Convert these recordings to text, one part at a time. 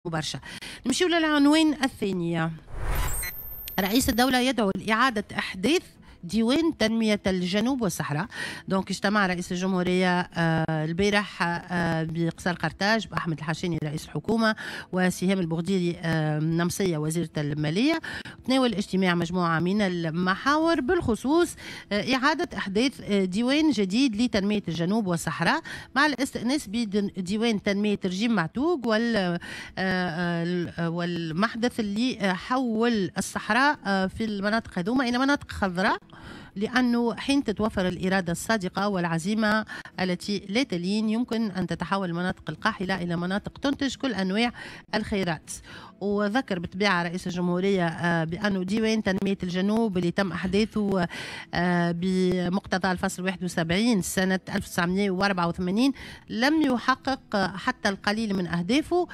برشا. نمشيو للعنوان الثاني. رئيس الدولة يدعو لإعادة إحداث ديوان تنمية الجنوب والصحراء. donc اجتمع رئيس الجمهورية البارح بقصر قرطاج بأحمد الحشاني رئيس الحكومة وسهام البوغديري نمصية وزيرة المالية. تناول الاجتماع مجموعة من المحاور، بالخصوص إعادة إحداث ديوان جديد لتنمية الجنوب والصحراء مع الاستئناس بديوان تنمية رجيم معتوق والمحدث اللي حول الصحراء في المناطق هذوما إلى مناطق خضراء، لأنه حين تتوفر الإرادة الصادقة والعزيمة التي لا تلين يمكن أن تتحول المناطق القاحلة إلى مناطق تنتج كل أنواع الخيرات. وذكر بالطبيعة رئيس الجمهورية بأنه ديوان تنمية الجنوب اللي تم أحداثه بمقتضى الفصل 71 سنة 1984 لم يحقق حتى القليل من أهدافه،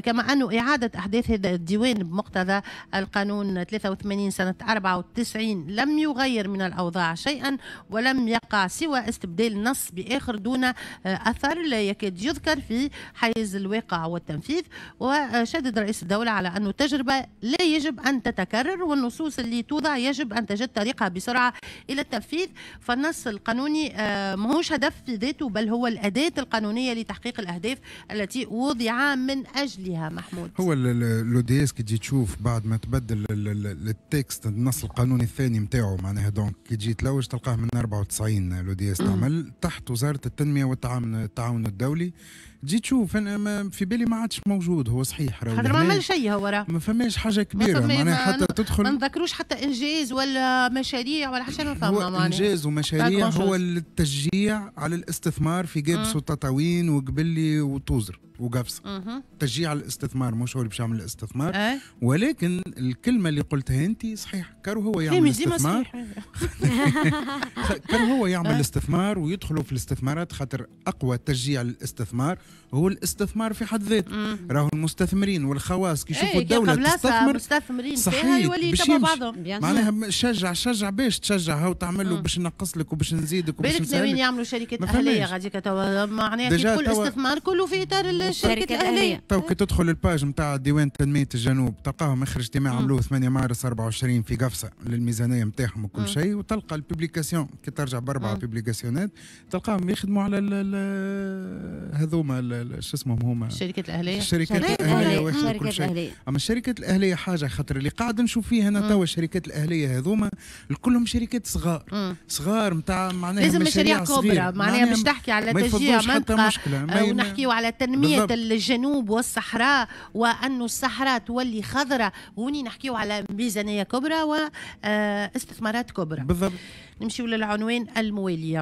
كما أنه إعادة أحداث هذا الديوان بمقتضى القانون 83 سنة 94 لم يغير من الأوضاع شيئا، ولم يقع سوى استبدال نص بآخر دون أثر لا يكاد يذكر في حيز الواقع والتنفيذ. وشدد رئيس الدولة على أن التجربة لا يجب أن تتكرر، والنصوص اللي توضع يجب أن تجد طريقها بسرعة إلى التنفيذ. فالنص القانوني ماهوش هدف في ذاته، بل هو الأداة القانونية لتحقيق الأهداف التي وضع من أجلها. محمود، هو l'ODS كي تجي تشوف بعد ما تبدل ال texte، النص القانوني الثاني نتاعو، معناها donc كي تجي تلوج تلقاه من 94 l'ODS تعمل تحت وزارة التنمية والتعاون الدولي. تجي تشوف، انا في بالي ما عادش موجود. هو صحيح. خاطر ما عمل شيء هو راه. ما فماش حاجة كبيره، معناها حتى تدخل ما نذكروش حتى انجاز ولا مشاريع ولا حاجه. ما فما هو انجاز ومشاريع، هو التشجيع على الاستثمار في قابس وتطاوين وقبلي وتوزر وقفصة. تشجيع على الاستثمار، مش هو اللي باش يعمل الاستثمار. ولكن الكلمة اللي قلتها انت صحيح، كانوا هو يعمل استثمار، كان هو يعمل الاستثمار ويدخلوا في الاستثمارات، خاطر اقوى تشجيع للاستثمار هو الاستثمار في حد ذاته. راهو المستثمرين والخواص كي يشوفوا الدولة تستثمر مستثمرين فيها يولي يتبعوا بعضهم. معناها شجع شجع باش تشجع، هاو تعمل له باش نقص لك وباش نزيدك وباش بالك ناويين يعملوا شركات اهليه غاديك توا، معناها كي تقول استثمار كله في اطار الشركات الاهليه. تو كي تدخل ال page نتاع ديوان تنمية الجنوب تلقاهم اخر اجتماع عملوه 8 مارس 24 في قفصه للميزانيه نتاعهم وكل شيء، وتلقى ال publication كي ترجع باربعة publication ات تلقاهم يخدموا على هذوما شو اسمهم هما؟ الشركات الاهليه. الشركات الاهلية وكل شيء. اما الشركات الاهلية حاجه، خاطر اللي قاعد نشوف فيه انا توا الشركات الاهلية هذوما كلهم شركات صغار صغار نتاع معناها لازم مشاريع كبرى، معناها باش تحكي على تشجيع منطقة ونحكيو على تنمية الجنوب والصحراء وأن الصحراء تولي خضراء، هوني نحكيو على ميزانية كبرى واستثمارات كبرى. بالضبط. نمشيو للعنوان المواليه.